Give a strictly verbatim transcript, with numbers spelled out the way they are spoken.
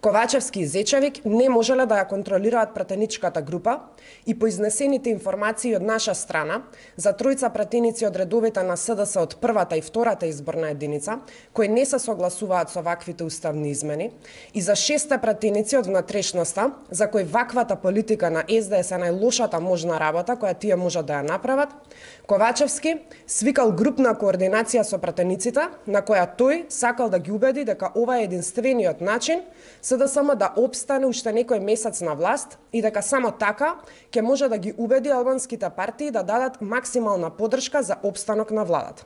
Ковачевски и Зечевик не можеле да ја контролираат пратеничката група и по изнесените информации од наша страна за тројца пратеници од редовите на СДС од првата и втората изборна единица, кои не се согласуваат со ваквите уставни измени, и за шесте пратеници од внатрешноста, за кои ваквата политика на Ес Де Ес е најлошата можна работа која тие можат да ја направат, Ковачевски свикал групна координација со пратениците, на која тој сакал да ги убеди дека ова е единствениот начин за да само да обстане уште некој месец на власт и дека само така ќе може да ги убеди албанските партии да дадат максимална поддршка за обстанок на владата.